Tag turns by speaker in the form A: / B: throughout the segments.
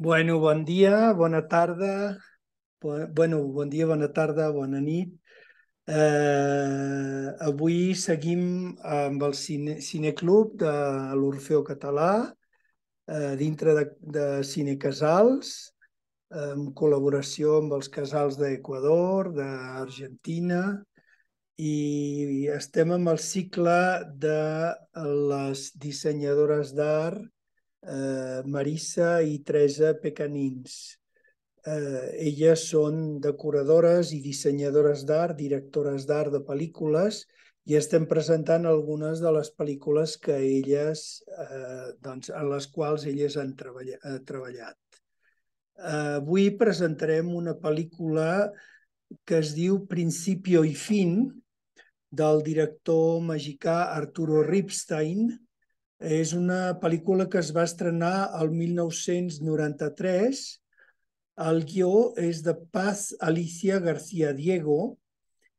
A: Bon dia, bona tarda, bon dia, bona tarda, bona nit. Avui seguim amb el Cineclub de l'Orfeó Català, dintre de Cine Casals, en col·laboració amb els casals d'Equador, d'Argentina, i estem amb el cicle de les dissenyadores d'art Marissa i Teresa Pecanins. Elles són decoradores i dissenyadores d'art, directores d'art de pel·lícules, i estem presentant algunes de les pel·lícules que elles, en les quals elles han treballat. Avui presentarem una pel·lícula que es diu Principio i Fin, del director mexicà Arturo Ripstein. És una pel·lícula que es va estrenar el 1993. El guió és de Paz Alicia García Diego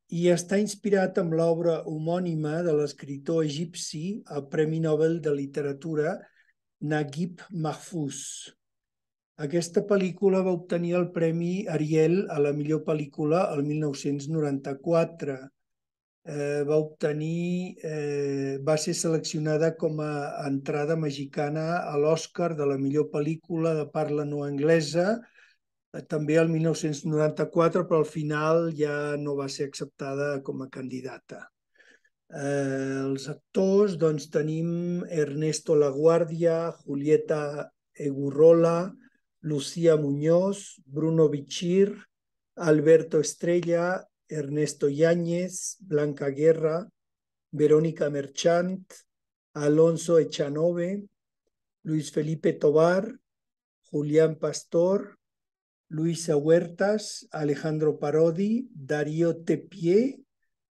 A: i està inspirat en l'obra homònima de l'escriptor egipci, el Premi Nobel de Literatura, Naguib Mahfouz. Aquesta pel·lícula va obtenir el Premi Ariel a la millor pel·lícula el 1994. Va ser seleccionada com a entrada mexicana a l'Oscar de la millor pel·lícula de parla no anglesa, també el 1994, però al final ja no va ser acceptada com a candidata. Els actors, doncs, tenim Ernesto Laguardia, Julieta Egurrola, Lucía Muñoz, Bruno Bichir, Alberto Estrella, Ernesto Yáñez, Blanca Guerra, Verónica Merchant, Alonso Echanove, Luis Felipe Tobar, Julián Pastor, Luisa Huertas, Alejandro Parodi, Darío Tepié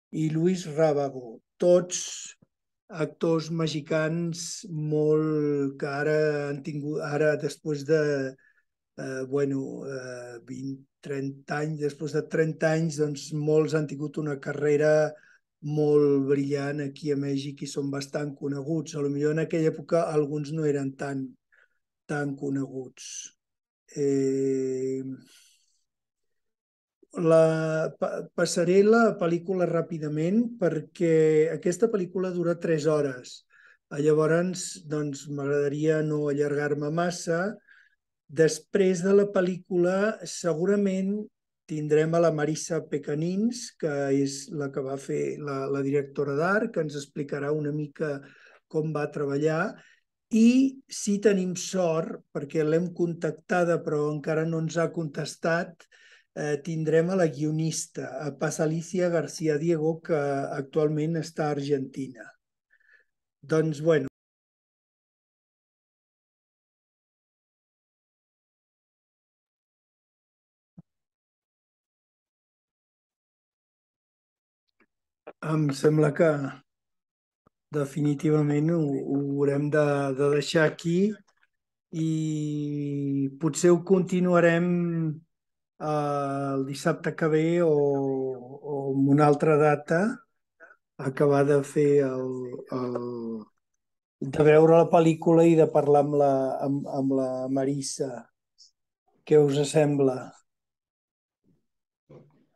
A: i Luis Rábago. Tots actors mexicans que ara han tingut, després de 30 anys, després de 30 anys, doncs molts han tingut una carrera molt brillant aquí a Mèxic i són bastant coneguts. Potser en aquella època alguns no eren tan coneguts. Passaré la pel·lícula ràpidament perquè aquesta pel·lícula dura 3 hores. Llavors, doncs, m'agradaria no allargar-me massa. Després de la pel·lícula, segurament tindrem a la Marissa Pecanins, que és la que va fer la directora d'art, que ens explicarà una mica com va treballar. I si tenim sort, perquè l'hem contactada però encara no ens ha contestat, tindrem a la guionista, a Paz Alicia García Diego, que actualment està a Argentina. Doncs, bueno, em sembla que definitivament ho haurem de deixar aquí i potser ho continuarem el dissabte que ve o en una altra data, acabar de fer de veure la pel·lícula i de parlar amb la Marissa. Què us sembla?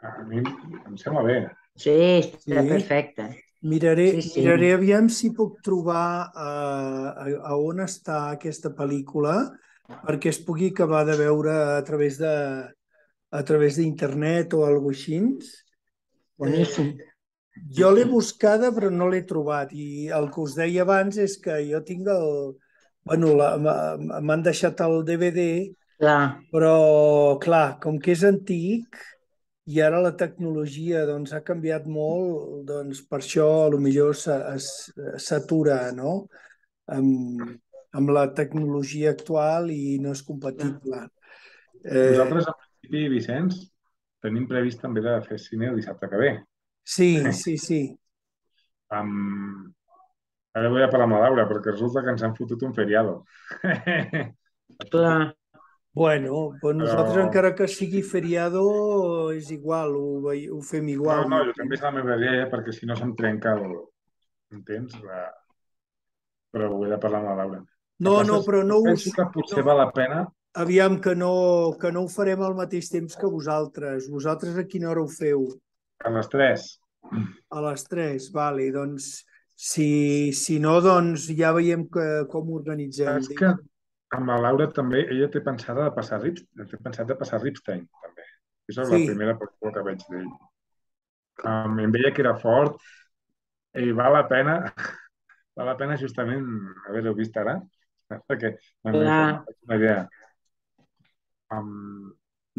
B: A mi em sembla bé.
C: Sí, està
A: Sí?
C: perfecte.
A: Miraré
C: Sí.
A: aviam si puc trobar a on està aquesta pel·lícula perquè es pugui acabar de veure a través d'internet o alguna cosa així.
C: Boníssim.
A: Jo l'he buscada però no l'he trobat i el que us deia abans és que jo tinc bueno, m'han deixat el DVD,
C: Clar.
A: però clar, com que és antic i ara la tecnologia doncs, ha canviat molt, doncs per això potser s'atura, no? Amb la tecnologia actual i no és compatible.
B: Nosaltres, en principi, Vicenç, tenim previst també de fer cine el dissabte que ve.
A: Sí.
B: Ara vull parlar amb la Laura, perquè resulta que ens han fotut un feriado.
C: Clar.
A: Bueno, pues nosaltres
B: Però...
A: encara que sigui feriado és igual, ho fem igual.
B: No, jo també és la meva idea, perquè si no se'm trenca el... Entens? Però ho he de parlar amb la Laura. El que
A: No,
B: passa és
A: però
B: que
A: no us...
B: penso que potser
A: No,
B: val la pena
A: Aviam que no ho farem al mateix temps que vosaltres. Vosaltres a quina hora ho feu?
B: A les 3.
A: A les 3, vale. Doncs si no, doncs ja veiem com ho organitzem.
B: Saps que amb la Laura també, ella té pensat de passar Ripstein, també. És la
A: Sí,
B: primera pel·lícula que veig d'ell. Em veia que era fort i val la pena justament haver-ho vist ara, perquè me'n
C: Clar,
B: faig una idea.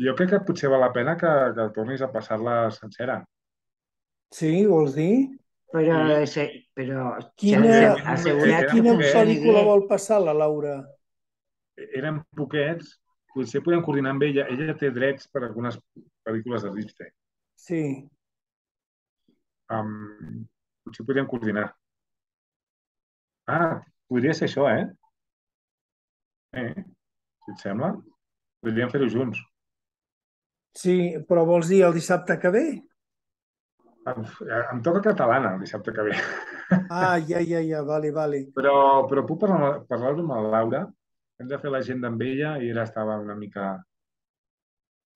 B: Jo crec que potser val la pena que tornis a passar-la sencera.
A: sí, vols dir?
C: però,
B: Sí,
C: però
A: Quina,
C: sense
B: eren,
C: assegurar que
A: quina
C: funcioni
A: pel·lícula
C: bé.
A: vol passar la Laura?
B: eren poquets, potser podem coordinar amb ella. Ella té drets per algunes pel·lícules de Ripstein.
A: Sí,
B: Potser podríem coordinar. Ah, podria ser això, eh? Si et sembla, podríem fer-ho junts.
A: sí, però vols dir el dissabte que ve?
B: Em toca catalana el dissabte que ve.
A: Ah, ja, vale.
B: Però puc parlar-ho amb la Laura. Hem de fer l'agenda amb ella i ella estava una mica...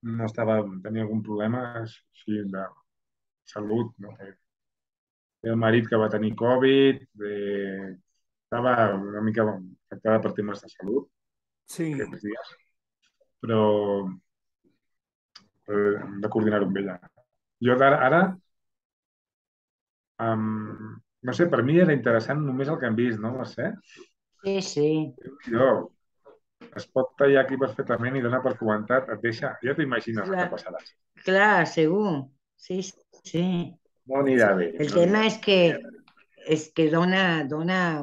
B: No estava... Tenia algun problema així de salut, no? Té el marit que va tenir Covid, estava una mica afectada per temes de salut
A: Sí,
B: aquests dies, però hem de coordinar-ho amb ella. Jo ara no sé, per mi era interessant només el que hem vist, no? Mercè?
C: Sí, sí,
B: Jo, es pot tallar aquí perfectament i donar per comentat, et deixa, ja t'imagines el que
C: clar,
B: passarà.
C: clar, segur. Sí, sí.
B: No anirà bé,
C: El
B: no anirà
C: tema
B: bé.
C: es que dona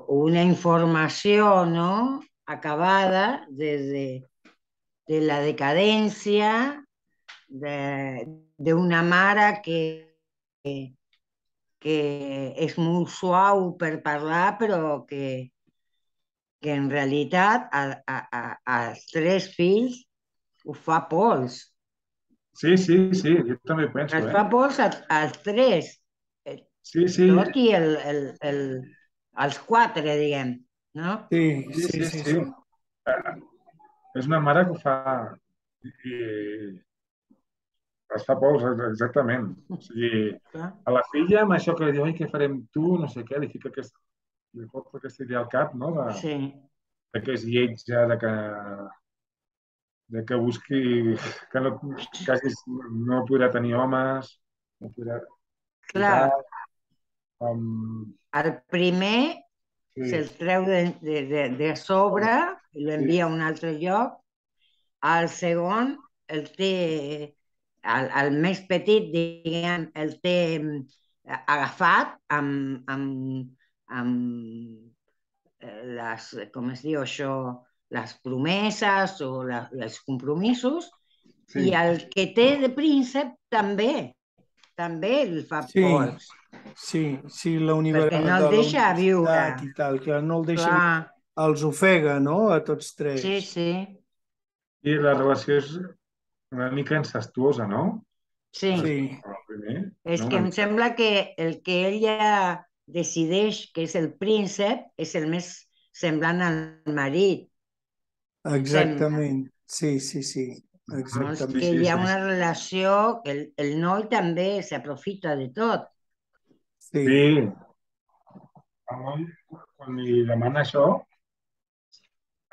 C: una información, ¿no? Acabada de la decadencia de una Mara que és molt suau per parlar, però que en realitat als tres fills ho fa pols.
B: Sí, jo també ho penso,
C: Els fa pols als tres, eh,
B: Sí,
C: tot i els quatre, diguem, no?
B: sí. És una mare que ho fa i es fa pols, exactament. O sigui,
C: Clar.
B: a la filla, amb això que li diu, ai, què farem tu, no sé què, li fot aquesta idea al cap, no?
C: Sí,
B: De que és lletja, de que busqui, que no, quasi no podrà tenir homes, no podrà, i
C: clar.
B: tal. Um,
C: El primer
B: sí,
C: se'l treu de sobre i
B: sí,
C: l'envia a un altre lloc. El segon el té, el més petit, diguem, el té agafat amb com es diu això, les promeses o els compromisos, i
B: sí.
C: el que té de príncep també li fa
A: sí,
C: pols,
A: sí,
C: perquè no
A: de
C: el
A: la
C: deixa viure.
A: universitat i tal, que no el deixa,
C: Clar,
A: els ofega, no?, a tots
C: sí,
A: tres.
C: sí,
B: I la relació és una mica incestuosa, no?
C: sí.
A: Sí,
B: El primer,
C: És
B: no?
C: que
B: Una
C: em
B: mica.
C: sembla que el que ella decideix que és el príncep és el més semblant al marit. Sembla.
A: exactament. Sí,
C: Llavors
B: Sí,
C: que
A: exactament.
C: hi ha
B: sí.
C: una relació que el noi també s'aprofita de tot.
B: Sí,
A: Sí,
B: el noi, quan li demana això,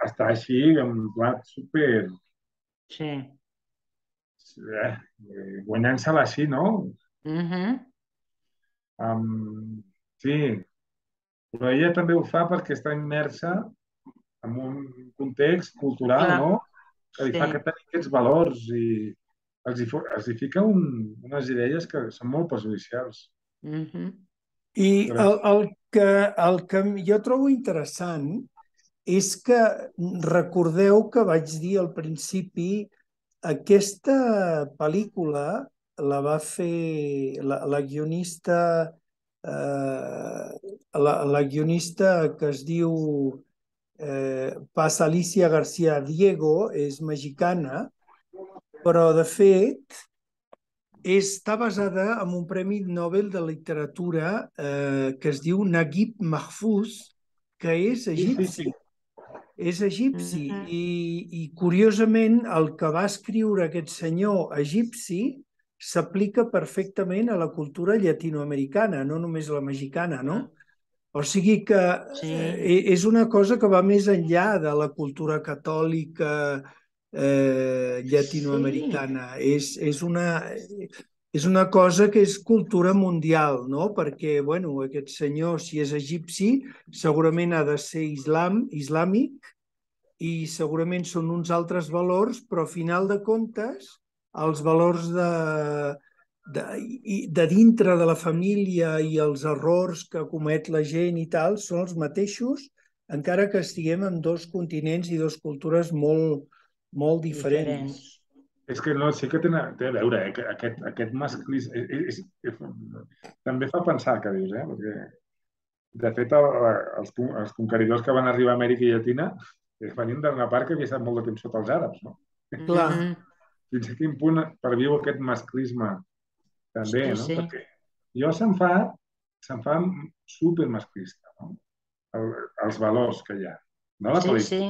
B: està així, en plat super...
C: Sí.
B: Guanyant-se-la així, no?
C: Mhm.
B: Um, sí, però ella també ho fa perquè està immersa en un context cultural,
C: Clar,
B: no? Que li
C: sí.
B: fa que tenir aquests valors i els hi fica unes idees que són molt perjudicials.
C: Mhm.
A: i
B: Però,
A: el que jo trobo interessant és que recordeu que vaig dir al principi, aquesta pel·lícula la va fer la guionista, la guionista que es diu Paz Alicia García Diego, és mexicana, però de fet està basada en un Premi Nobel de Literatura que es diu Naguib Mahfouz, que és
B: sí,
A: egipci. és egipci i curiosament el que va escriure aquest senyor egipci s'aplica perfectament a la cultura llatinoamericana, no només a la mexicana, no? O sigui que és una cosa que va més enllà de la cultura catòlica llatinoamericana. És una cosa que és cultura mundial, no? Perquè, bueno, aquest senyor, si és egipci, segurament ha de ser islàmic i segurament són uns altres valors, però a final de comptes, els valors de dintre de la família i els errors que comet la gent i tal són els mateixos, encara que estiguem en dos continents i dues cultures molt diferents.
B: És que no, sí que té a veure, aquest masclisme... també fa pensar, que dius, perquè de fet els conqueridors que van arribar a Amèrica Llatina venien d'una part que havia estat molt de temps sota els àrabs, no?
A: Clar.
B: Fins a quin punt perviu aquest masclisme també, no? Perquè jo se'm fa supermasclista, no? Els valors que hi ha, no la pel·lícula.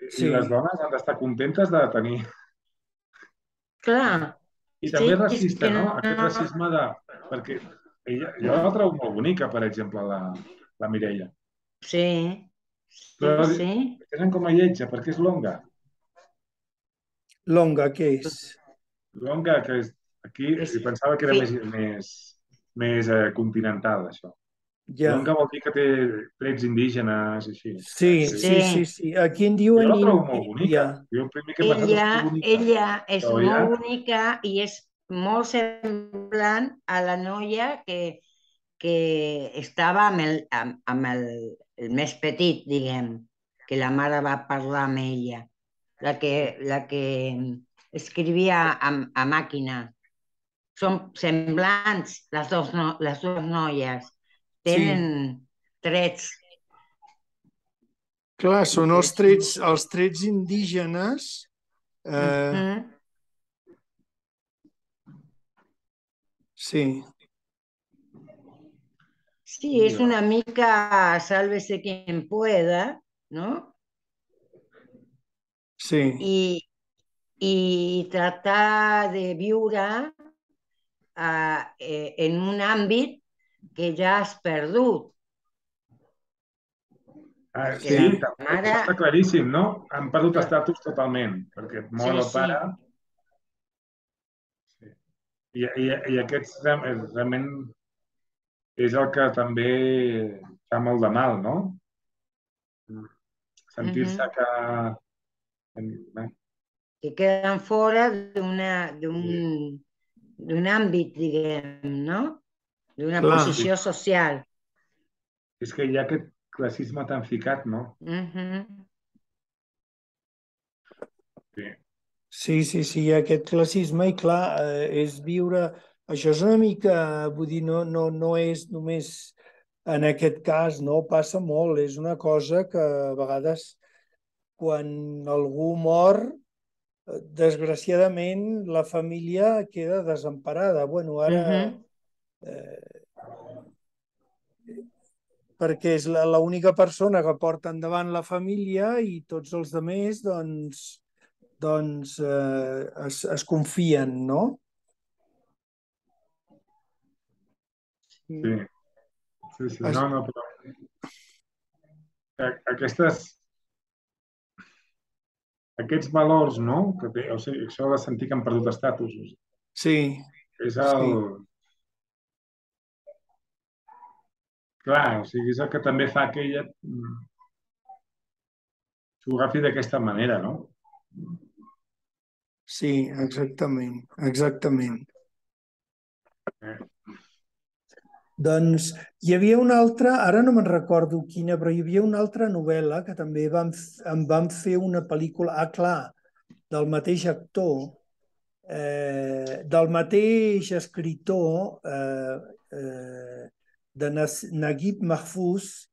B: I les dones han d'estar contentes de tenir...
C: Clar.
B: I també racista, no? Aquest racisme de... Perquè jo la trobo molt bonica, per exemple, la Mireia.
C: Sí.
B: Però tenen com a lletja, perquè és longa.
A: Longa, què és?
B: Longa, que és... Aquí pensava que era més continental, això. Longa vol dir que té trets indígenes i així.
A: Sí. Aquí en diuen...
B: Jo la trobo molt bonica. Jo el primer que he pensat és que bonica.
C: Ella és molt bonica i és molt semblant a la noia que estava amb el més petit, diguem, que la mare va parlar amb ella, la que escrivia a màquina. Són semblants les dues noies. Tenen trets.
A: Clar, són els trets indígenes. Sí.
C: Sí, és una mica sálvese quien pueda, ¿no?
A: Sí.
C: I tratar de viure en un àmbit que ja has perdut.
B: Sí, està claríssim, no? Han perdut estatus totalment, perquè mor el pare. I aquest realment és el que també fa molt de mal, no? Sentir-se
C: que queden fora d'un àmbit, diguem, no? D'una posició social.
B: És que hi ha aquest classisme tan ficat, no?
A: Sí, hi ha aquest classisme i clar, és viure... Això és una mica, vull dir, no és només en aquest cas, no? Passa molt, és una cosa que a vegades quan algú mor, desgraciadament la família queda desemparada. Bueno, ara... perquè és l'única persona que porta endavant la família i tots els altres, doncs es confien, no?
B: Sí. No, però... Aquests valors, no? O sigui, això de sentir que han perdut estatus.
A: Sí.
B: És el... Clar, o sigui, és el que també fa que ella s'ho agafi d'aquesta manera, no?
A: Sí, exactament. Doncs hi havia una altra, ara no me'n recordo quina, però hi havia una altra novel·la que també en van fer una pel·lícula, clar, del mateix actor, del mateix escriptor de Naguib Mahfouz,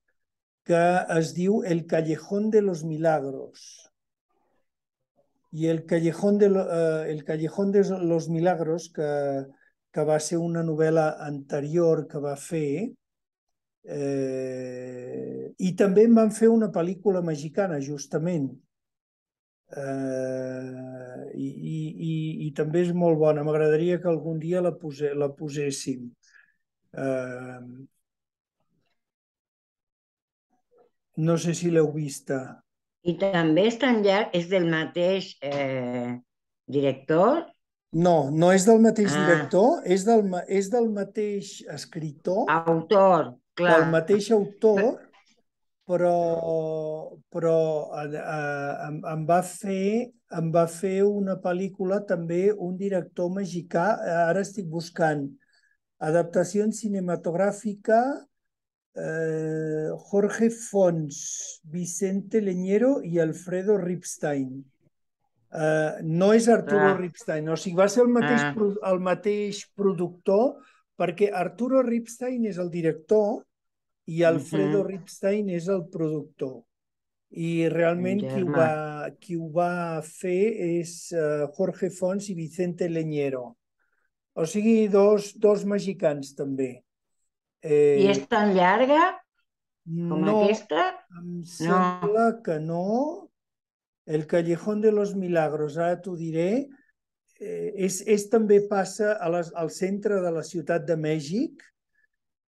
A: que es diu El Callejón de los Milagros. I El Callejón de los Milagros, que va ser una novel·la anterior que va fer, I també en van fer una pel·lícula mexicana, justament. I també és molt bona. M'agradaria que algun dia la poséssim. No sé si l'heu vista.
C: I també és tan llarg, és del mateix director?
A: No, no és del mateix
C: Ah.
A: director, és del mateix escriptor,
C: Autor, clar.
A: del mateix autor, però em va fer una pel·lícula també un director mexicà. Ara estic buscant adaptació cinematogràfica, Jorge Fons, Vicente Leñero i Alfredo Ripstein. No és Arturo Ripstein, o sigui, va ser el mateix productor, perquè Arturo Ripstein és el director i Alfredo Ripstein és el productor. I realment qui ho va fer és Jorge Fons i Vicente Leñero. O sigui, dos mexicans també.
C: I és tan llarga com aquesta?
A: Em sembla que no. El Callejón de los Milagros, ara t'ho diré, també passa al centre de la ciutat de Mèxic.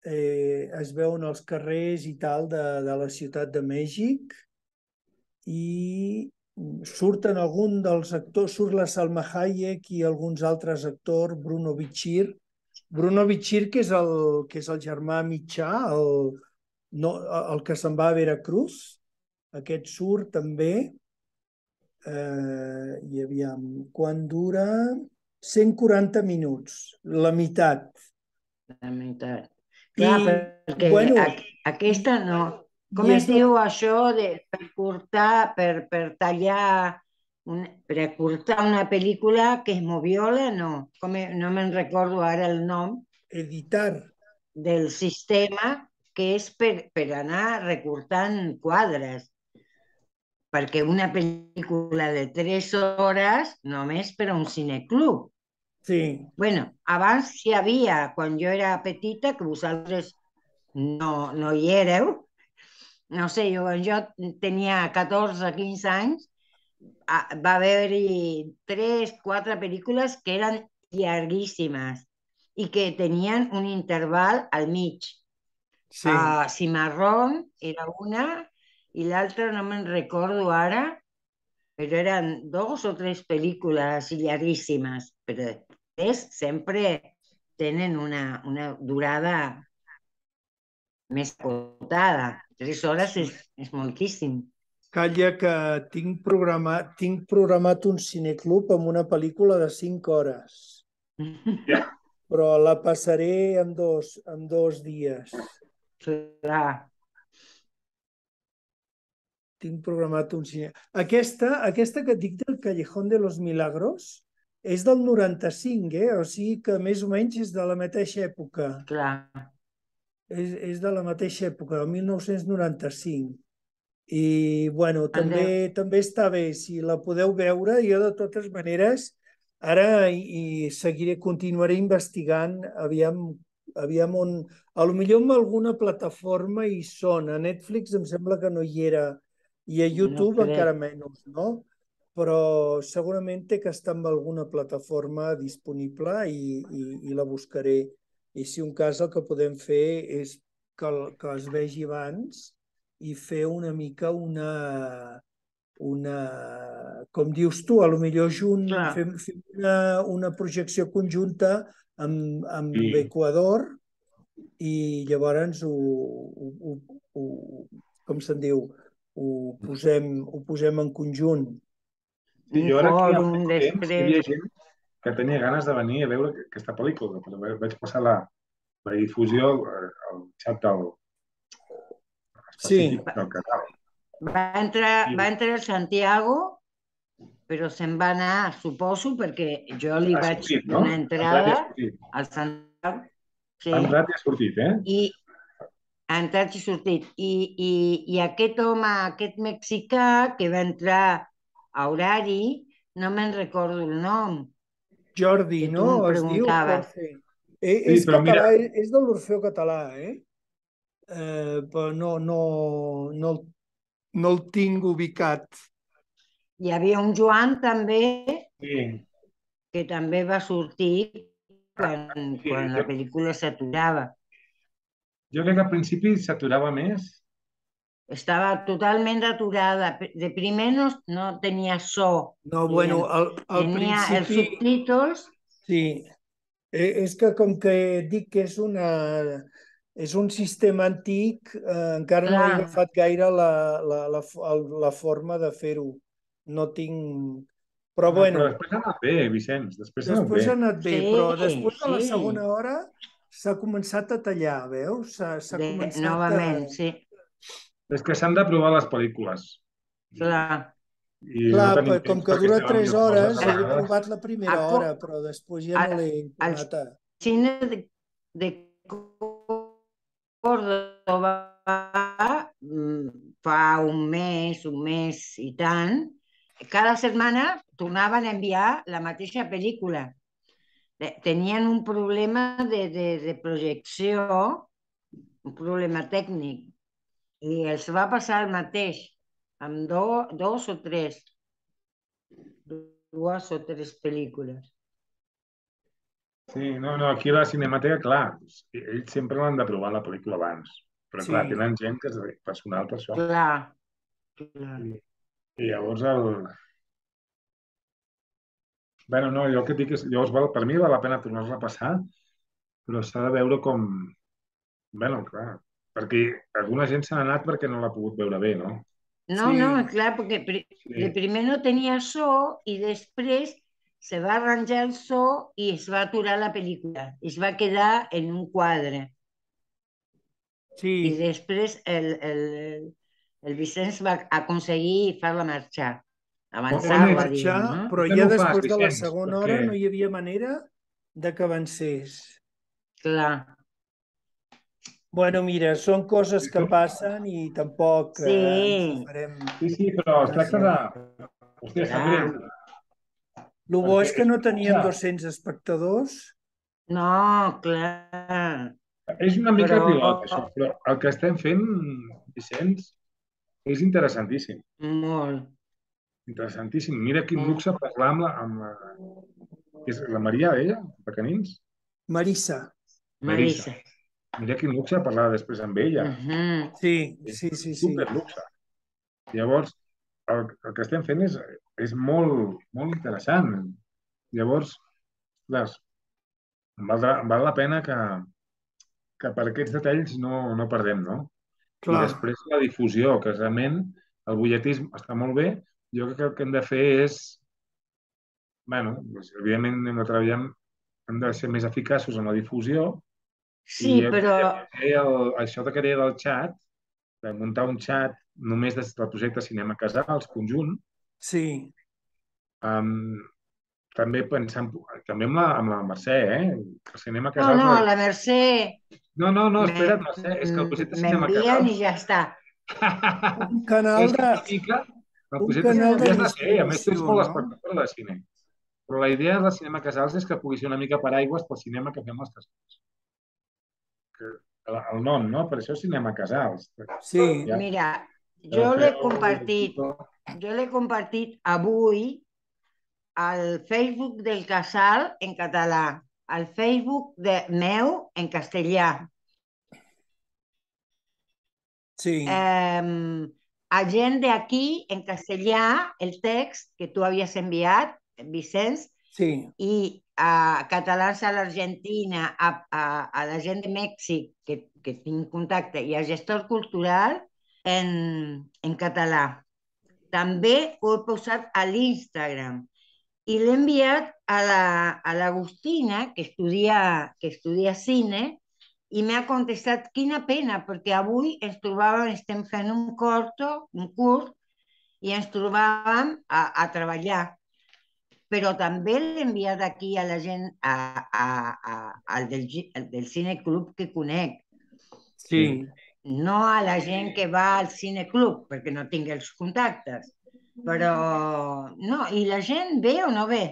A: Es veuen els carrers i tal de la ciutat de Mèxic i surten algun dels actors, surt la Salma Hayek i alguns altres actors, Bruno Bichir, que és el germà mitjà, el que se'n va a Veracruz. Aquest surt també. I aviam, quan dura? 140 minuts, la meitat.
C: La meitat. Clar, perquè aquesta no. Com es diu això per cortar, per tallar, per acortar una pel·lícula que es moviola? No, no me'n recordo ara el nom.
A: Editar.
C: Del sistema que és per anar recortant quadres. Perquè una pel·lícula de 3 hores només per a un cineclub.
A: Sí.
C: Bueno, abans hi havia, quan jo era petita, que vosaltres no hi éreu, no sé, quan jo tenia 14-15 anys, va haver-hi 3-4 pel·lícules que eren llarguíssimes i que tenien un interval al mig.
A: Sí.
C: Cimarrón era una i l'altra no me'n recordo ara, però eren 2 o 3 pel·lícules llarguíssimes, però després sempre tenen una durada més acotada. 3 hores és moltíssim.
A: Calla, que tinc programat un cineclub amb una pel·lícula de 5 hores. Però la passaré en 2 dies.
C: Clar.
A: Tinc programat un cineclub. Aquesta que et dic del Callejón de los Milagros és del 95, o sigui que més o menys és de la mateixa època.
C: Clar.
A: És de la mateixa època, del 1995. I, bueno, també està bé, si la podeu veure. Jo, de totes maneres, ara continuaré investigant, aviam on... Potser en alguna plataforma hi són. A Netflix em sembla que no hi era, i a YouTube encara menys, no? Però segurament té que estar en alguna plataforma disponible i la buscaré. I si un cas el que podem fer és que es vegi abans i fer una mica com dius tu, potser fem una projecció conjunta amb Equador i llavors com se'n diu, ho posem en conjunt.
B: Sí, jo ara aquí al temps hi havia gent que tenia ganes de venir a veure aquesta pel·lícula, però vaig passar la difusió al xat específic del canal.
C: Va entrar el Santiago, però se'n va anar, suposo, perquè jo li vaig donar entrada al Santiago.
B: Ha entrat i ha sortit,
C: Ha entrat i sortit. I aquest home, aquest mexicà, que va entrar a horari, no me'n recordo el nom.
A: Jordi, no? Es diu Jorge. És català, és de l'Orfeó Català, però no el tinc ubicat.
C: Hi havia un Joan també,
B: Sí,
C: que també va sortir
B: sí.
C: quan la pel·lícula s'aturava.
B: Jo crec que al principi s'aturava més.
C: Estava totalment aturada. De primer no tenia so,
A: No, bueno,
C: diguem.
A: al
C: Tenia els
A: principi,
C: subtítols,
A: sí. És que com que dic que és un sistema antic, encara no he
C: clar,
A: agafat gaire la forma de fer-ho. No tinc... Però
B: No, però
A: bueno,
B: després ha anat bé, Vicenç, després ha anat
A: després
B: bé.
A: ha anat bé,
C: sí,
A: però després de la
C: sí,
A: segona hora s'ha començat a tallar, veus? S'ha començat a...
C: novament, sí,
B: És que s'han de provar les pel·lícules.
C: clar.
B: I no
A: Clar,
B: tenim
A: com
B: temps
A: que
B: perquè
A: dura
B: estem amb
A: 3
B: mil coses
A: hores,
B: a
A: he
B: vegades.
A: provat la
C: A,
A: primera
C: co-
A: hora, però després ja
C: a,
A: no l'he
C: al
A: tornat a...
C: cine de Córdoba fa un mes i tant, cada setmana tornaven a enviar la mateixa pel·lícula. Tenien un problema de projecció, un problema tècnic, i els va passar el mateix amb dues o tres pel·lícules.
B: Sí, no, aquí a la Cinemateka, clar, ells sempre l'han de provar la pel·lícula abans. Però clar,
A: Sí,
B: tenen gent que és personal per això.
C: Clar, clar.
B: I llavors Bueno, no, jo el que dic és, llavors per mi val la pena tornar-la a passar, però s'ha de veure com... Bueno, clar, perquè alguna gent se n'ha anat perquè no l'ha pogut veure bé, no?
C: No,
A: sí,
C: clar, perquè de
B: Sí.
C: primer no tenia so i després se va arranjar el so i es va aturar la pel·lícula. Es va quedar en un quadre. I
A: sí.
C: després el Vicenç va aconseguir fer-la marxar,
B: On
A: Fer
B: és?
C: avançar-la,
A: marxar,
C: diguem, no?
A: però
B: Per què
A: ja
B: no ho fas,
A: després de la
B: Vicenç?
A: segona
B: Perquè
A: hora no hi havia manera de que avancés.
C: Clar,
A: Bueno, mira, són coses que passen i tampoc ens hi
C: sí,
B: Sí,
A: farem
B: sí, però es tracta
A: massa.
B: de... Hòstia, sap greu.
C: clar.
A: El bo
B: Perquè
A: és que no
B: una
A: tenien
B: cosa,
A: 200 espectadors.
C: No, clar,
B: és una mica
C: però
B: pilot, això, però el que estem fent, Vicenç, és interessantíssim.
C: molt.
B: Interessantíssim. Mira quin luxe parlar és la Maria, ella, de Canins?
A: Marissa.
B: Marissa.
C: Marisa.
B: Mira quin luxe parlar després amb ella.
C: Mhm.
A: Sí,
B: És
A: sí, sí, sí.
B: super luxe. Llavors, el que estem fent és molt, molt interessant. Llavors, les, val la pena que per aquests detalls no perdem, no? I
A: Clar,
B: després la difusió, que realment el butlletisme està molt bé. Jo crec que el que hem de fer és, bueno, doncs, evidentment hem de treballar, hem de ser més eficaços en la difusió i
C: Sí, però
B: això que deia del xat, de muntar un xat només des del projecte Cinema Casals, conjunt,
A: sí.
B: um, també pensant, també amb la Mercè, el Cinema
C: no,
B: Casals...
C: la Mercè
B: No, espera't, Mercè, és que el projecte Cinema
C: m'envien i
B: Casals...
C: ja està.
A: Un canal
B: És que
A: de,
B: una mica el
A: un
B: projecte
A: canal
B: Cinema
A: de
B: ja has de ser, a més tu ets
A: distribució,
B: molt
A: no?
B: espectador de cine. Però la idea del Cinema Casals és que pugui ser una mica paraigües pel cinema que fem als casals. El nom, no? Per això Cinema Casals.
A: Sí,
B: Ja,
C: Mira,
B: ja
C: jo
B: ho
C: l'he
B: feu,
C: compartit, jo l'he compartit avui al Facebook del Casal en català, al Facebook meu en castellà,
A: sí,
C: a gent d'aquí en castellà, el text que tu havies enviat, Vicenç,
A: sí,
C: i a catalans a l'Argentina, a la gent de Mèxic que tinc contacte i a gestor cultural en català. També ho he posat a l'Instagram i l'he enviat a l'Agustina, que estudia cine, i m'ha contestat, quina pena, perquè avui ens trobàvem, estem fent un curt, i ens trobàvem a treballar. Però també l'he enviat aquí a la gent, al del cineclub que conec,
B: sí.
A: sí.
C: no a la gent que va al cineclub, perquè no tinc els contactes. Però no, i la gent ve o no ve?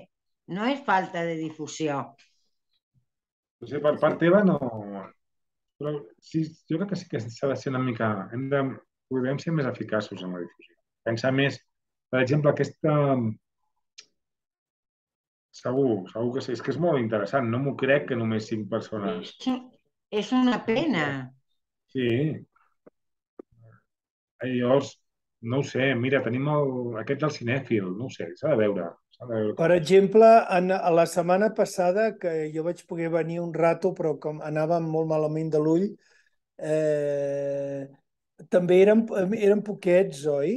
C: No és falta de difusió.
B: O sigui, per part teva no... Però sí, jo crec que sí que s'ha de ser una mica... Podem ser més eficaços en la difusió. Pensar més... Per exemple, aquesta... Segur que sí. És que és molt interessant. No m'ho crec que només 5 persones...
C: És una pena.
B: Sí. Llavors, no ho sé. Mira, tenim aquest del cinèfil. No ho sé, s'ha de veure. S'ha de veure
A: Per
B: com...
A: exemple, a la setmana passada, que jo vaig poder venir un rato, però com anava molt malament de l'ull, eh, també eren poquets, oi?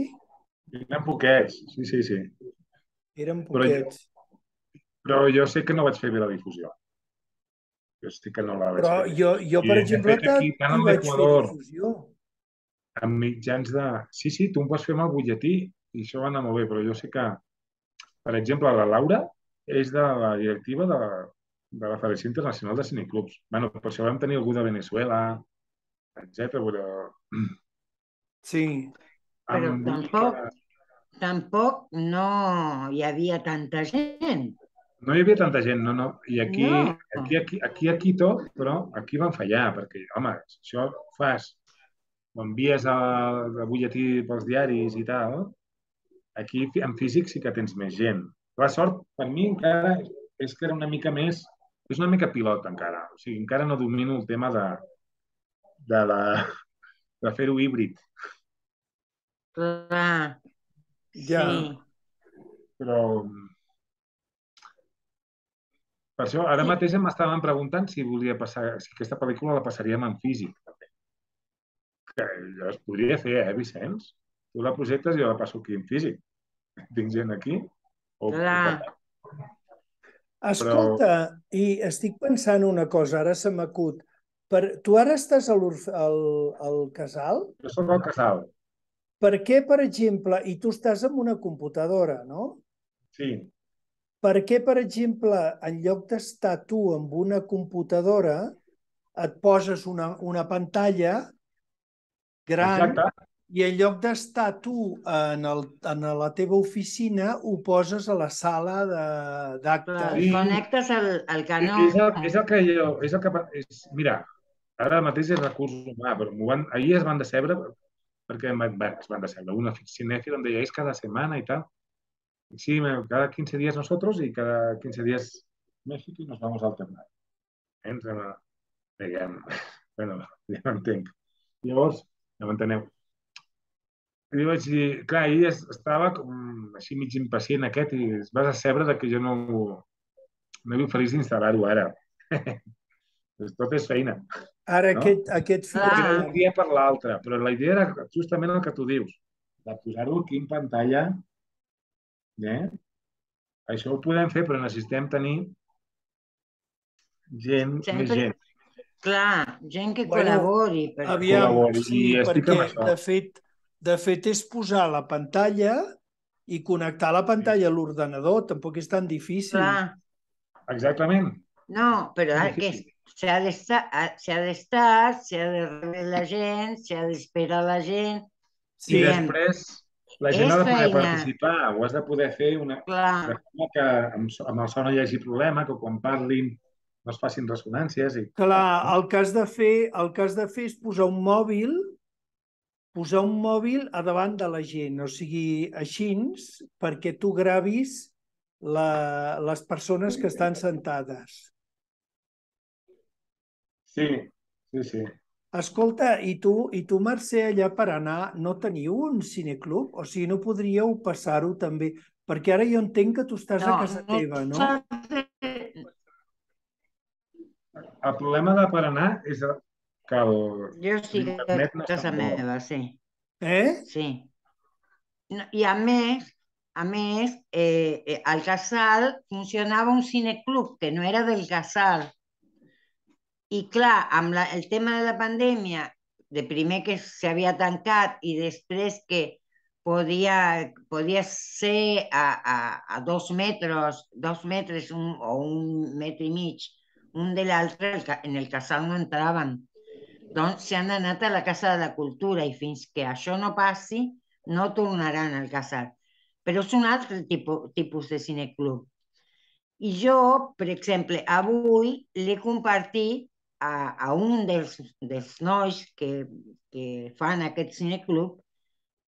B: Eren poquets. Sí, sí, sí.
A: Eren
B: Però jo,
A: poquets.
B: però jo sé que no vaig fer bé la difusió. Jo sí que no la vaig
A: Però
B: fer bé.
A: jo
B: I
A: per
B: de
A: exemple,
B: fet, aquí, tant
A: t'hi
B: a
A: vaig fer
B: l'Equador,
A: difusió.
B: amb mitjans de... Sí, sí, tu em pots fer amb el butlletí i això va anar molt bé, però jo sé que, per exemple, la Laura és de la directiva de la Federació Internacional de Cineclubs. Bueno, per això vam tenir algú de Venezuela, etc. Però
A: Sí.
C: Però
B: amb vull dir que
C: tampoc no hi havia tanta gent.
B: no hi havia tanta gent, no, no. I
C: No.
B: aquí a Quito, però aquí van fallar, perquè, home, si això fas, ho envies de butlletí pels diaris i tal, aquí en físic sí que tens més gent. La sort, per mi, encara és que era una mica més... És una mica pilot, encara. O sigui, encara no domino el tema de, la, de fer-ho híbrid.
C: Clar,
A: Ja.
C: sí.
B: Però per això, ara
C: Sí.
B: mateix m'estaven preguntant si volia passar, si aquesta pel·lícula la passaríem en físic, també. Que es podria fer, Vicenç? Tu la projectes i jo la passo aquí en físic. Tinc gent aquí. O
C: Clar.
B: però
A: Escolta, i estic pensant una cosa, ara se m'acut. Tu ara estàs al casal?
B: jo soc al casal.
A: Per què, per exemple, i tu estàs amb una computadora, no?
B: Sí,
A: Per què, per exemple, en lloc d'estar tu amb una computadora, et poses una pantalla gran
B: exacte.
A: i en lloc d'estar tu en la teva oficina, ho poses a la sala
C: Clar.
A: d'actes?
B: Sí,
C: Connectes al canó.
B: és el que jo... És el que, mira, ara mateix és recurs humà, però ahir es van decebre perquè es van decebre. Una cinèfila em deia, és cada setmana i tal. Sí, cada 15 días nosotros y cada 15 días México y nos vamos alternant. Entre, diguem, bueno, ja m'entenc. Llavors, ja m'enteneu. I li vaig dir, clar, ahir estava com així mig impacient aquest i es va decebre de que jo no li oferís d'instal·lar-ho ara. Pues tot és feina,
A: Ara,
B: no?
A: aquest fi de
B: Perquè era d'un
C: Clar.
B: dia per l'altre, però la idea era justament el que tu dius, de posar-ho aquí en pantalla, eh? Això ho podem fer, però necessitem tenir més
C: Sempre,
B: gent
C: clar, gent que
A: Bueno,
C: col·labori.
B: que
A: aviam,
B: col·labori.
A: sí,
B: I estic
A: perquè
B: amb això.
A: de fet és posar la pantalla i connectar la
B: Sí.
A: pantalla a l'ordenador, tampoc és tan difícil.
C: Clar.
B: Exactament.
C: No, però
B: És
C: que
B: difícil.
C: s'ha de rebre la gent, s'ha d'esperar la gent.
B: I
A: Sí,
C: Diguem,
B: després la gent ha
C: és
B: de poder
C: feina,
B: participar, ho has de poder fer de
C: clar,
B: forma que amb el so no hi hagi problema, que quan parlin no es facin ressonàncies.
A: clar, el que has de fer és posar un mòbil a davant de la gent, o sigui, així, perquè tu gravis les persones que estan sentades.
B: Sí, sí, sí.
A: Escolta, i tu, Mercè, allà per anar, no teniu un cineclub? O sigui, no podríeu passar-ho també? Perquè ara jo entenc que tu estàs a
C: no,
A: casa teva, no?
B: El problema de per anar és que
C: jo estic a
B: l'internet no és
C: casa
B: tan bo.
C: meva, sí,
A: Eh?
C: sí. No, I a més, al Casal funcionava un cineclub que no era del Casal. I clar, amb el tema de la pandèmia, de primer que s'havia tancat i després que podia ser a 2 metres o 1 metre i mig un de l'altre, en el casal no entraven. Doncs s'han anat a la Casa de la Cultura i fins que això no passi no tornaran al casal. Però és un altre tipus de cineclub. I jo, per exemple, avui l'he compartit a un dels nois que fan aquest cineclub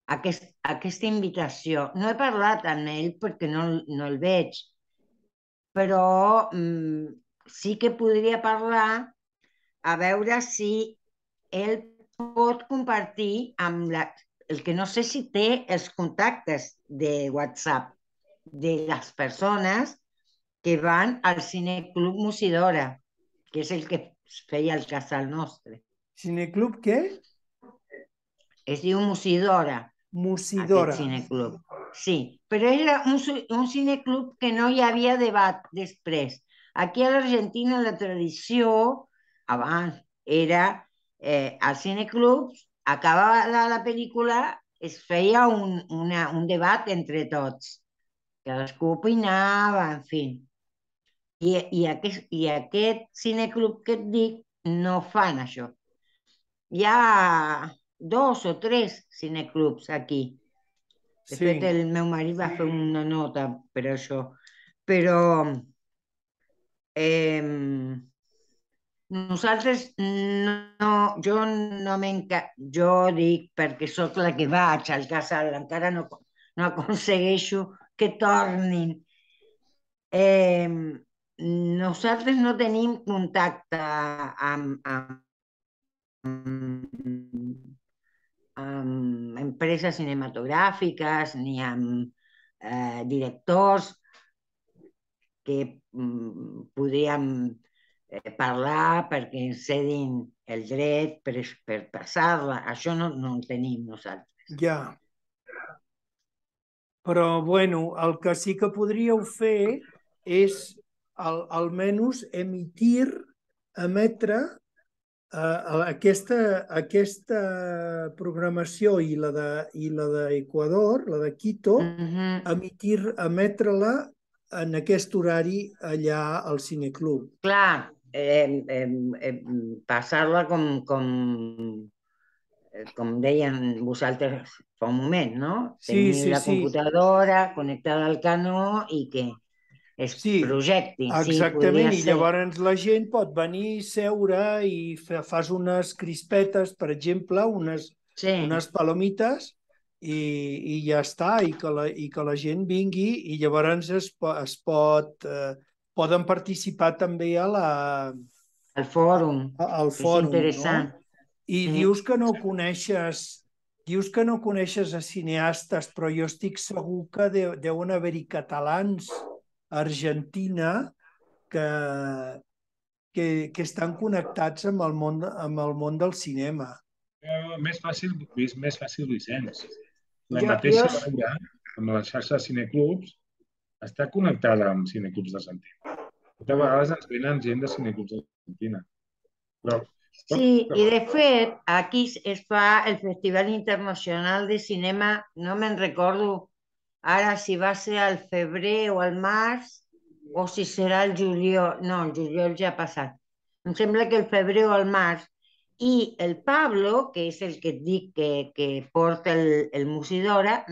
C: aquesta invitació. No he parlat amb ell perquè no el veig, però sí que podria parlar a veure si ell pot compartir amb el que no sé si té els contactes de WhatsApp de les persones que van al Cineclub Musidora, que és el que feia el casal nostre.
A: Cineclub què?
C: Es diu Musidora,
A: Musidora.
C: aquest cineclub. Sí, però era un cineclub que no hi havia debat després. Aquí a l'Argentina la tradició, abans, era al cineclub, acabada la pel·lícula, es feia un debat entre tots. Cadascú opinava, en fi. I aquest cineclub que et dic no fan això. Hi ha 2 o 3 cineclubs aquí. De fet, el meu marit va fer una nota per això. Però nosaltres no, jo dic perquè sóc la que vaig al casal, encara no aconsegueixo que tornin. Nosaltres no tenim contacte amb empreses cinematogràfiques ni amb directors que podríem parlar perquè ens cedin el dret per passar-la. Això no el tenim nosaltres.
A: Ja. Però, bueno, el que sí que podríeu fer és almenys emetre aquesta programació i la d'Equador, la de Quito, emetre-la en aquest horari allà al cineclub.
C: Clar, passar-la com deien vosaltres fa un moment, no? Tenir la computadora connectada al canó i que es projecti.
A: Exactament, i llavors la gent pot venir, seure i fas unes crispetes, per exemple, unes palomites, i ja està, i que la gent vingui, i llavors poden participar també
C: al fòrum.
A: És
C: interessant.
A: I dius que no coneixes a cineastes, però jo estic segur que deuen haver-hi catalans a Argentina que estan connectats amb el món del cinema.
B: Més fàcil Vicenç. La mateixa Laura, amb la xarxa de cineclubs, està connectada amb cineclubs d'Argentina. Moltes vegades ens venen gent de cineclubs d'Argentina.
C: Sí, i de fet, aquí es fa el Festival Internacional de Cinema, no me'n recordo ara si va ser al febrer o al març, o si serà el juliol. No, el juliol ja ha passat. Em sembla que el febrer o el març. I el Pablo, que és el que et dic que porta el Musidora,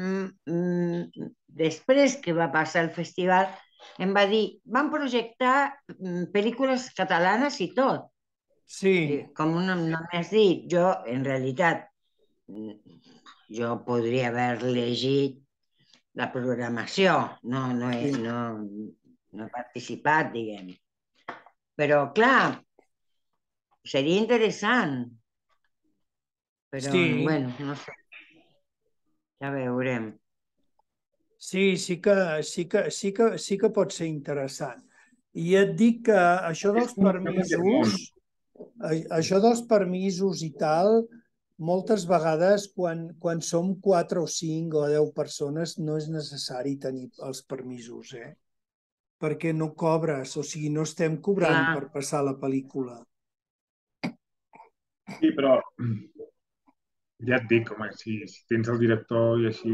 C: després que va passar el festival, em va dir, van projectar pel·lícules catalanes i tot.
A: Sí.
C: Com no m'has dit, jo, en realitat, jo podria haver llegit la programació, no he participat, diguem. Però, clar, seria interessant. Però, bueno, no sé. Ja veurem.
A: Sí que pot ser interessant. I et dic que això dels permisos i tal, moltes vegades quan som 4 o 5 o 10 persones no és necessari tenir els permisos, perquè no cobres, o sigui, no estem cobrant per passar la pel·lícula.
B: Sí, però ja et dic, home, si tens el director i així...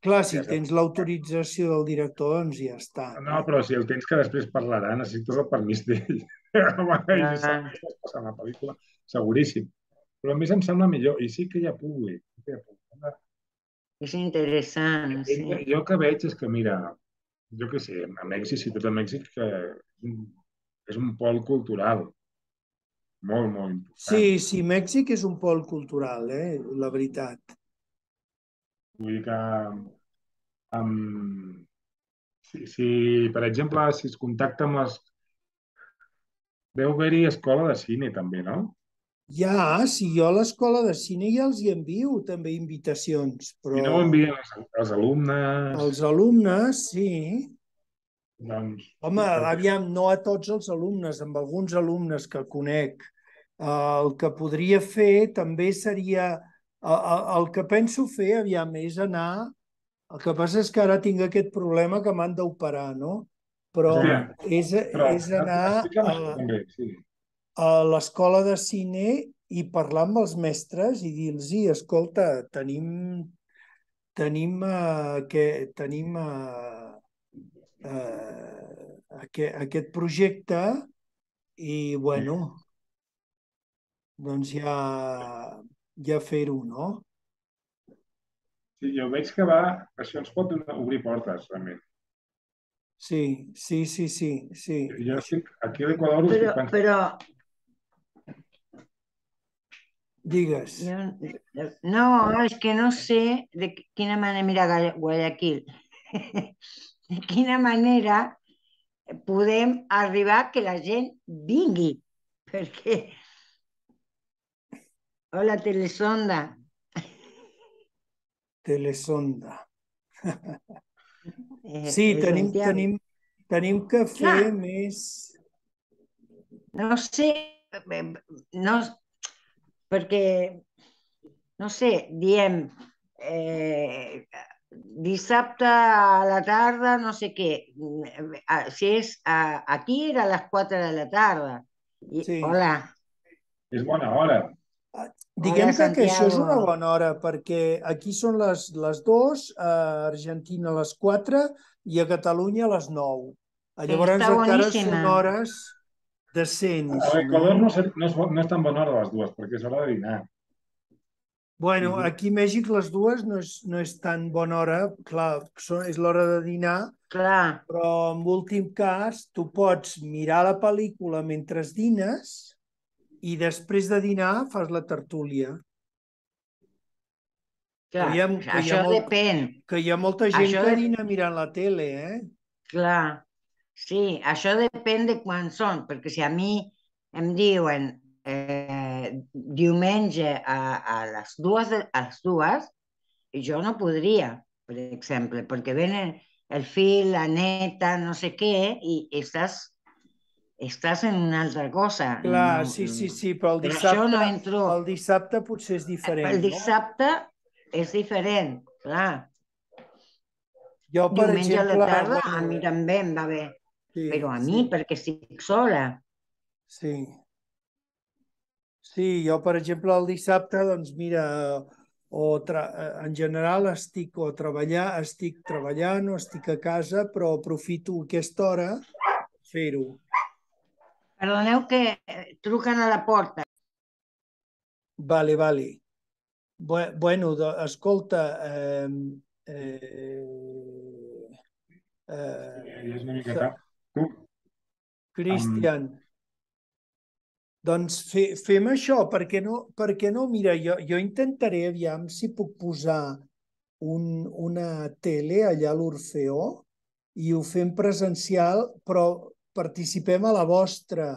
A: Clar, si tens l'autorització del director, doncs ja està.
B: No, però si el tens que després parlarà, necessites el permís d'ell. Home, i saps que estàs passant la pel·lícula, seguríssim. Però a mi em sembla millor, i sí que hi ha públic.
C: És interessant, sí.
B: Jo el que veig és que, mira, jo què sé, a Mèxic, ciutat de Mèxic, que és un pol cultural. molt, molt important.
A: Sí, sí, Mèxic és un pol cultural, la veritat.
B: Vull dir que si, per exemple, si es contacta amb les... Deu haver-hi escola de cine, també, no?
A: Ja, si jo a l'escola de cine ja els hi envio també invitacions,
B: Si
A: però
B: no ho envien els alumnes,
A: els alumnes, sí.
B: doncs...
A: Home, aviam, no a tots els alumnes, amb alguns alumnes que conec. El que podria fer també seria... El que penso fer, aviam, és anar... El que passa és que ara tinc aquest problema que m'han d'operar, no? Però
B: Hòstia, però
A: és anar
B: explica'm això també, sí.
A: a l'escola de cine i parlar amb els mestres i dir-los, escolta, tenim aquest projecte i, bueno, doncs ja fer-ho, no?
B: Sí, jo veig que va... Això ens pot obrir portes, realment.
A: Sí, sí, sí, sí, sí.
B: Jo estic, aquí a l'Equador ho estic pensant.
C: Però
A: Digues.
C: no, és que no sé de quina manera, mira, Guayaquil, de quina manera podem arribar que la gent vingui, perquè, hola, Telesonda,
A: Telesonda. Sí,
C: Santiago.
A: tenim que fer
C: Clar,
A: més...
C: no sé, no, perquè, no sé, diem, dissabte a la tarda, no sé què, si és aquí era a les 4 de la tarda.
A: Sí.
C: Hola,
B: És bona hora.
A: Diguem
C: hola
A: que això és una
C: Santiago.
A: bona hora, perquè aquí són les 2, a Argentina a les 4 i a Catalunya a les 9. Llavors
C: Està
A: encara
C: boníssima.
A: són hores decents,
B: A
A: no?
B: l'Equador no és tan bona hora a les dues, perquè és hora de dinar.
A: Bueno, aquí a Mèxic les dues no és tan bona hora, clar, és l'hora de dinar,
C: Clar,
A: però en últim cas tu pots mirar la pel·lícula mentre dines i després de dinar fas la tertúlia. Que
C: clar,
A: hi ha, que hi ha,
C: això
A: molt,
C: depèn.
A: que hi ha molta gent
C: Això
A: que
C: de...
A: dina mirant la tele,
C: Clar, sí, això depèn de quan són, perquè si a mi em diuen diumenge a les dues, jo no podria, per exemple, perquè venen el fill, la neta, no sé què, i estàs en una altra cosa. No,
A: Clar, sí, però
C: per això no entro.
A: el dissabte potser és
C: El
A: diferent, no?
C: dissabte és diferent, clar.
A: Jo, per
C: Diumenge a la
A: exemple,
C: tarda a
A: bueno,
C: mi també em va bé, però
A: sí,
C: a mi
A: sí,
C: perquè estic sola.
A: sí. Sí, jo, per exemple, el dissabte, doncs mira, en general estic treballant o estic a casa, però aprofito aquesta hora per fer-ho.
C: Perdoneu que truquen a la porta.
A: Vale, vale. Bueno, escolta,
B: Ja és una mica
A: eh,
B: tard. Tu, amb...
A: Cristian, doncs fem això, perquè no? Mira, jo intentaré, aviam si puc posar una tele allà a l'Orfeó i ho fem presencial, però participem a la vostra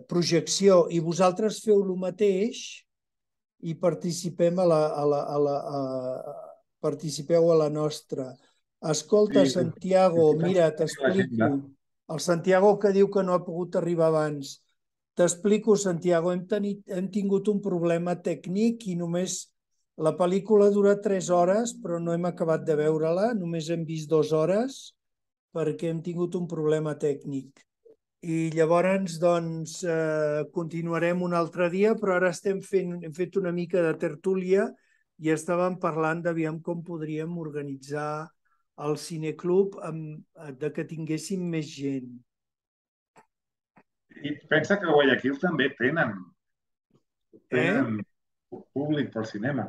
A: projecció i vosaltres feu el mateix i participeu a la nostra. Escolta,
B: Sí,
A: Santiago,
B: estic
A: mira,
B: pensant en l'agenda.
A: t'explico. El Santiago que diu que no ha pogut arribar abans. T'explico, Santiago, hem tingut un problema tècnic i només la pel·lícula dura 3 hores, però no hem acabat de veure-la, només hem vist 2 hores perquè hem tingut un problema tècnic. I llavors, doncs, continuarem un altre dia, però ara hem fet una mica de tertúlia i estàvem parlant d'aviam com podríem organitzar el cineclub de que tinguéssim més gent.
B: I pensa que a Guayaquil també tenen
A: Eh?
B: públic pel cinema.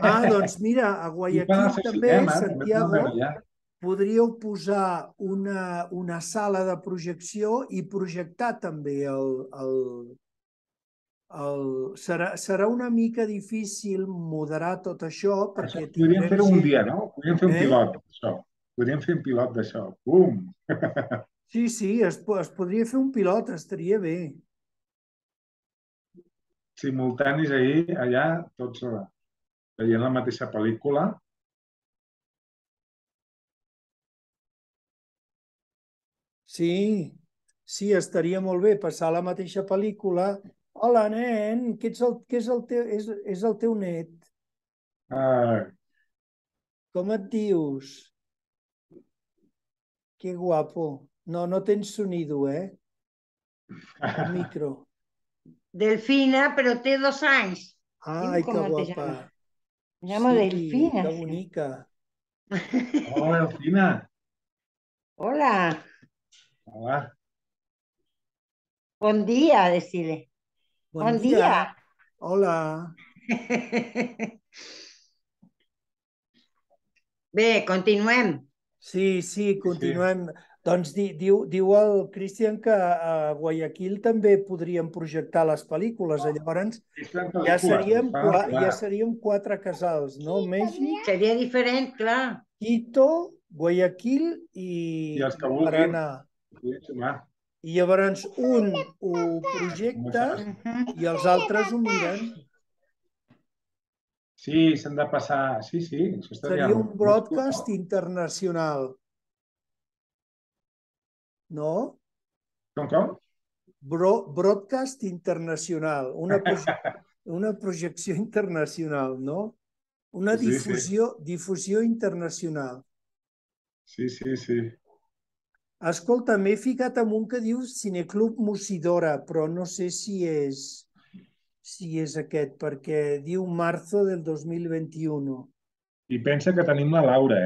A: Ah, doncs mira, a
B: I fan el
A: Guayaquil
B: seu
A: també,
B: cinema, també poden
A: Santiago,
B: veure allà.
A: podríeu posar una sala de projecció i projectar també serà una mica difícil moderar tot això perquè
B: Podríem
A: tindrem
B: fer-ho un
A: gent...
B: dia, no? Podríem fer un pilot d'això. Podríem fer un pilot d'això. Bum!
A: Sí, es podria fer un pilot, estaria bé.
B: Simultanis ahir, allà, tots veient la mateixa pel·lícula.
A: Sí, estaria molt bé passar la mateixa pel·lícula. Hola, nen, què és el teu net?
B: Ah,
A: Com et dius? Que guapo. No tens sonido, el micro.
C: Delfina, pero té 2 anys.
A: Ai, que
C: ¿Cómo te
A: guapa.
C: llamas? Me llamo
A: Sí,
C: Delfina.
A: que bonica.
B: hola, Delfina.
C: Hola,
B: Hola.
C: bon dia, decirle.
A: Bon
C: Bon
A: dia.
C: dia.
A: Hola.
C: Bé, continuem.
A: Sí, continuem. Doncs diu el Cristian que a Guayaquil també podríem projectar les pel·lícules. Llavors ja seríem 4 casals, no? Mèxic,
C: Seria diferent, clar.
A: Quito, Guayaquil
B: I els que
A: i
B: vulguin,
A: Paranà.
B: podien sumar.
A: I llavors un ho projecta i els altres ho miren.
B: Sí, s'han de passar... Sí, això estaria
A: Seria un
B: molt
A: broadcast internacional, no?
B: Com?
A: Broadcast internacional, una projecció internacional, no? Una
B: Sí.
A: difusió internacional.
B: Sí.
A: Escolta, m'he ficat en un que diu Cineclub Musidora, però no sé si és aquest, perquè diu marzo del 2021.
B: I pensa que tenim la Laura,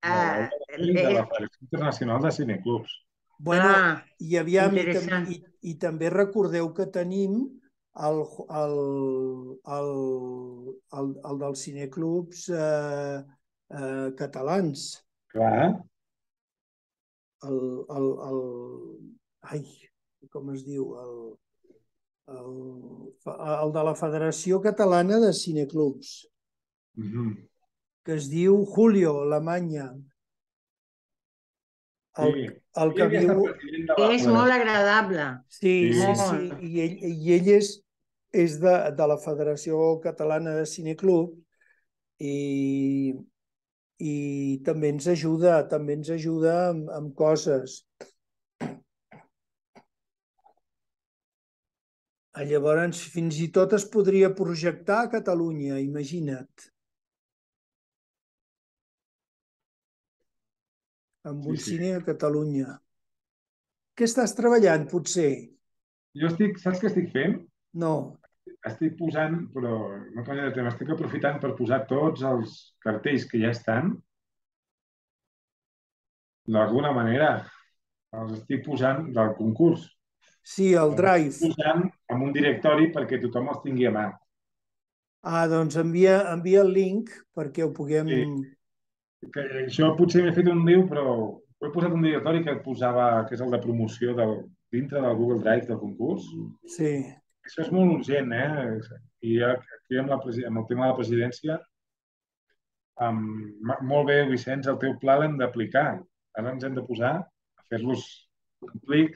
B: La
C: Ah,
B: Laura de la Federació Internacional de Cineclubs.
A: Bueno,
C: clar,
A: i aviam,
C: interessant.
A: i també recordeu que tenim el dels cineclubs catalans.
B: Clar.
A: Ai, com es diu? El de la Federació Catalana de Cineclubs, que es diu Julio Alemanya. El que viu...
C: Que és molt agradable.
A: Sí. I ell és de la Federació Catalana de Cineclub i també ens ajuda amb coses. Llavors, fins i tot es podria projectar a Catalunya, imagina't. Amb un cine a Catalunya. Què estàs treballant, potser?
B: Saps què estic fent?
A: No.
B: Estic posant, però no canvia de tema, estic aprofitant per posar tots els cartells que ja estan. D'alguna manera, els estic posant del concurs.
A: Sí, el Drive.
B: Els estic posant en un directori perquè tothom els tingui a mà.
A: Doncs envia el link perquè ho puguem...
B: Això potser m'he fet un lío, però ho he posat un directori que posava, que és el de promoció dintre del Google Drive del concurs.
A: Sí.
B: Això és molt urgent, I aquí amb el tema de la presidència, molt bé, Vicenç, el teu pla l'hem d'aplicar. Ara ens hem de posar a fer-los complir,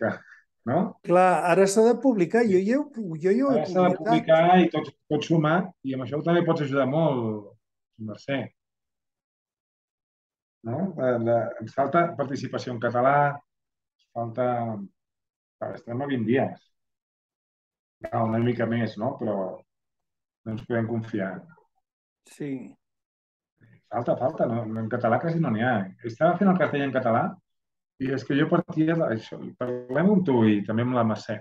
B: no?
A: Clar, ara s'ha de publicar. Jo ja ho he publicat.
B: Ara s'ha de publicar i tots sumar, i amb això també pots ajudar molt, Mercè. No? Ens falta participació en català, ens falta... Estem a 20 dies. Una mica més, no? Però no ens podem confiar.
A: Sí.
B: Falta. No? En català quasi no n'hi ha. Estava fent el cartell en català i és que jo partia d'això. Parlem amb tu i també amb la Mercè.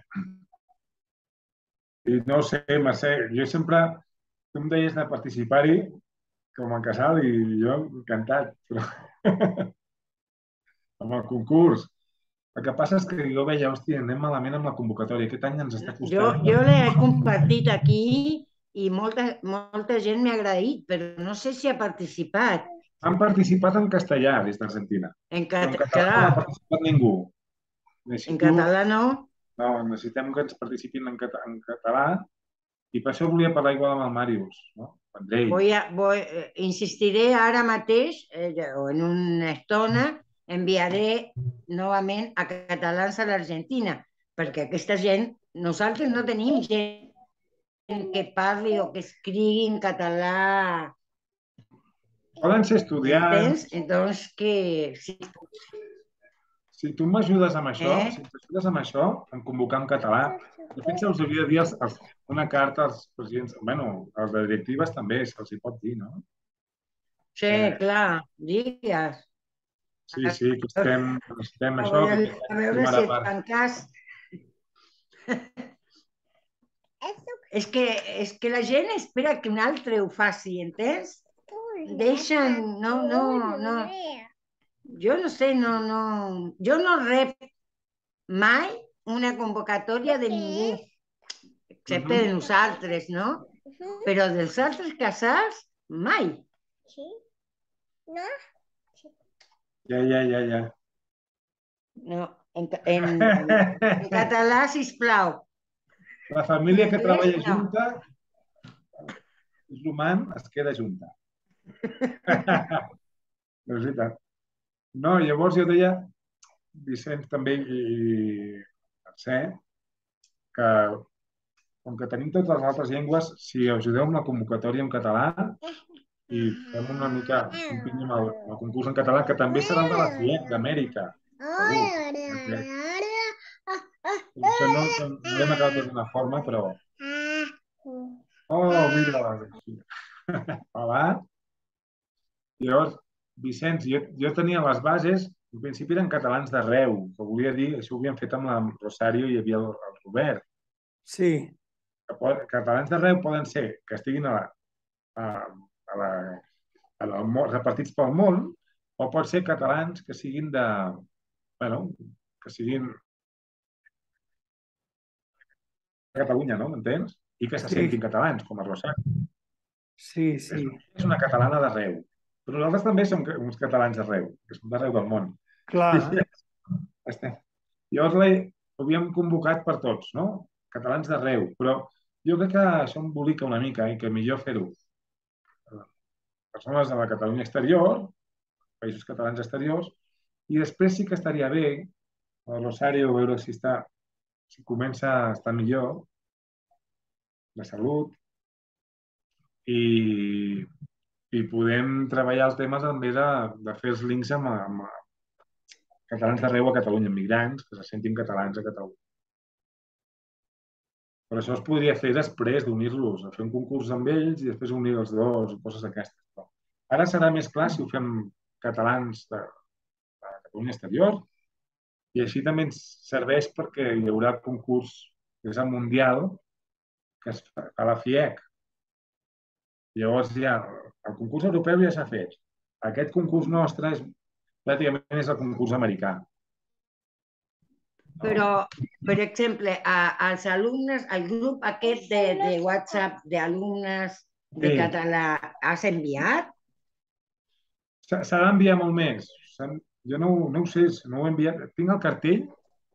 B: I no sé, Mercè, jo sempre... Tu em deies de participar-hi com a casal i jo encantat. Però... amb el concurs. El que passa és que jo veia, hòstia, anem malament amb la convocatòria. Aquest any ens està costant.
C: Jo l'he compartit aquí i molta gent m'ha agraït, però no sé si ha participat.
B: Han participat en castellà des d'Argentina.
C: En
B: Però en
C: català,
B: català no ha participat ningú.
C: en català no.
B: No, necessitem que ens participin en català i per això volia parlar igual amb el Màrius, no? Amb ell.
C: Insistiré ara mateix, o en una estona, enviaré novament a catalans a l'Argentina, perquè aquesta gent, nosaltres no tenim gent que parli o que escrigui en català.
B: Poden ser estudiants.
C: Doncs que...
B: Si tu m'ajudes amb això,
C: Eh?
B: si t'ajudes amb això, en convocar en català, de fet se'ls hauria de dir una carta als presidents, bueno, als de directives també se'ls hi pot dir, no?
C: Sí, clar, digues.
B: Sí, que necessitem
C: A
B: això.
C: veure, si et fan cas. És que la gent espera que un altre ho faci, entens? Deixen, no. Jo no sé, jo no rep mai una convocatòria de ningú, excepte de nosaltres, no? Però dels altres casals, mai.
D: Sí? No?
B: Ja.
C: No, en català, sisplau.
B: La família que treballa junta, és l'humà, es queda junta. No és veritat. No, llavors jo deia, Vicenç també i Mercè, que com que tenim totes les altres llengües, si ajudeu amb la convocatòria en català i fem una mica, empenyem el concurs en català, que també serà el de la FIEC d'Amèrica. Això no l'hem acabat de donar forma, però... Oh, mira! Hola! Llavors, Vicenç, jo tenia les bases, en principi eren catalans d'arreu, que volia dir, això ho havíem fet amb la Rosario i hi havia el Robert.
A: Sí.
B: Catalans d'arreu poden ser que estiguin repartits pel món, o pot ser catalans que siguin de... Bueno, que siguin de Catalunya, no? M'entens? I que se sentin catalans, com a Rosario.
A: Sí.
B: És una catalana d'arreu. Però nosaltres també som uns catalans d'arreu, que som d'arreu del món.
A: Clar.
B: Llavors ho havíem convocat per tots, no? Catalans d'arreu. Però jo crec que això embolica una mica i que millor fer-ho. Persones de la Catalunya exterior, països catalans exteriors, i després sí que estaria bé, a Rosario, veure si comença a estar millor, de salut, i podem treballar els temes també de fer els links amb catalans d'arreu a Catalunya, migrants que se sentin catalans a Catalunya. Però això es podria fer després d'unir-los, fer un concurs amb ells i després unir els dos, coses d'aquestes. Ara serà més clar si ho fem catalans de Catalunya exterior i així també ens serveix perquè hi haurà concurs, que és el Mundial, que es fa a la FIEC. Llavors ja, el concurs europeu ja s'ha fet. Aquest concurs nostre pràcticament és el concurs americà.
C: Però, per exemple, als alumnes, al grup aquest de WhatsApp d'alumnes de català, has enviat?
B: S'ha d'enviar molt més. Jo no ho sé, no ho he enviat. Tinc el cartell,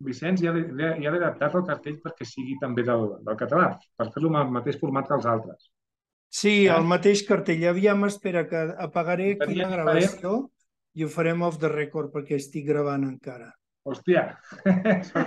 B: Vicenç, ja l'he adaptat al cartell perquè sigui també del català, per fer-lo amb el mateix format que els altres.
A: Sí, el mateix cartell. Aviam, espera, que apagaré aquí la gravació i ho farem off the record perquè estic gravant encara.
B: Hòstia, sort que